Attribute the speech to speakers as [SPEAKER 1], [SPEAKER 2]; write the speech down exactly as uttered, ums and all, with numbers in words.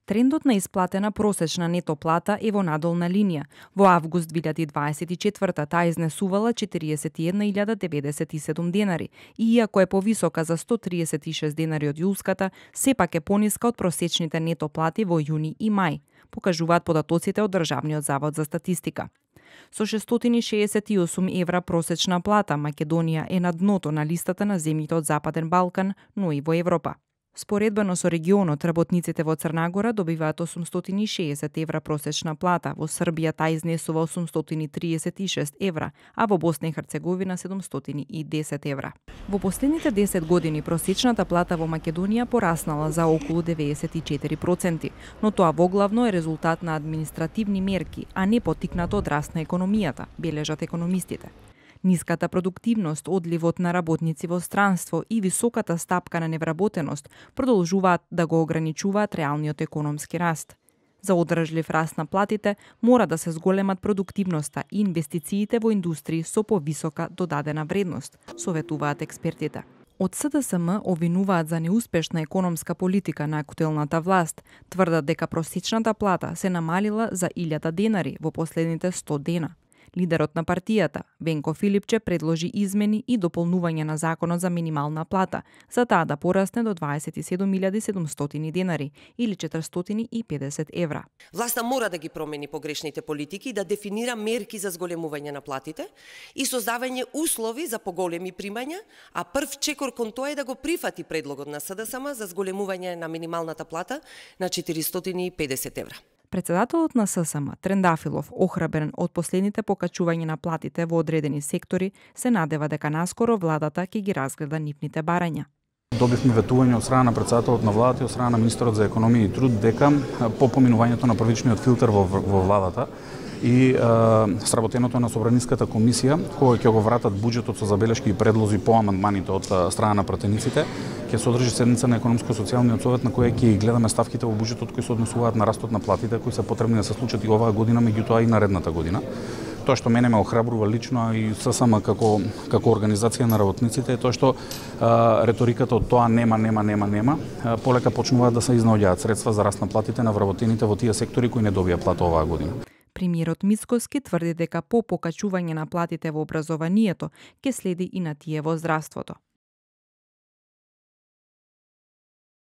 [SPEAKER 1] Трендот на исплатена просечна нето плата е во надолна линија. Во август две илјади дваесет и четврта таа изнесувала четириесет и една илјада деветдесет и седум денари, и иако е повисока за сто триесет и шест денари од јулската, сепак е пониска од просечните нето плати во јуни и мај, покажуваат податоците од Државниот завод за статистика. Со шестстотини шеесет и осум евра просечна плата, Македонија е на дното на листата на земјите од Западен Балкан, но и во Европа. Споредбено со регионот, работниците во Црна Гора добиваат осумстотини и шеесет евра просечна плата, во Србија таа изнесува осумстотини триесет и шест евра, а во Босна и Херцеговина седумстотини и десет евра. Во последните десет години просечната плата во Македонија пораснала за околу деветдесет и четири проценти, но тоа воглавно е резултат на административни мерки, а не поттикнато од раст на економијата, бележат економистите. Ниската продуктивност, одливот на работници во странство и високата стапка на невработеност продолжуваат да го ограничуваат реалниот економски раст. За одржлив раст на платите мора да се зголемат продуктивноста и инвестициите во индустрии со повисока додадена вредност, советуваат експертите. Од С Д С М обвинуваат за неуспешна економска политика на актуелната власт, тврдат дека просечната плата се намалила за илјада денари во последните сто дена. Лидерот на партијата, Венко Филипче, предложи измени и дополнување на законот за минимална плата, за таа да порасне до дваесет и седум илјади седумстотини денари или четиристотини и педесет евра.
[SPEAKER 2] Власта мора да ги промени погрешните политики и да дефинира мерки за зголемување на платите и создавање услови за поголеми примања, а прв чекор кон тоа е да го прифати предлогот на С Д С М за зголемување на минималната плата на четиристотини и педесет евра.
[SPEAKER 1] Председателот на С С М, Трендафилов, охрабрен од последните покачувања на платите во одредени сектори, се надева дека наскоро владата ќе ги разгледа нивните барања.
[SPEAKER 3] Добивме ветување од страна на председателот на владата и од страна на министерот за економија и труд дека по поминувањето на првичниот филтер во, во владата и е, сработеното на Собраниската комисија, кој ќе го вратат буџетот со забелешки и предлози по амандманите од страна на пратениците, ќе се одржи седница на економско-социјалниот совет на која ќе гледаме ставките во буџетот кои се однесуваат на растот на платите, кои се потребни да се случат и оваа година, меѓутоа и наредната година. Тоа што мене ме охрабрува лично и С С М како како организација на работниците е тоа што а, реториката од тоа нема, нема, нема, нема, а, полека почнуваат да се изнаоѓаат средства за раст на платите на вработените во тие сектори кои не добија плата оваа година.
[SPEAKER 1] Премиерот Мицкоски тврди дека по покачување на платите во образованието ќе следи и на тие во здравството.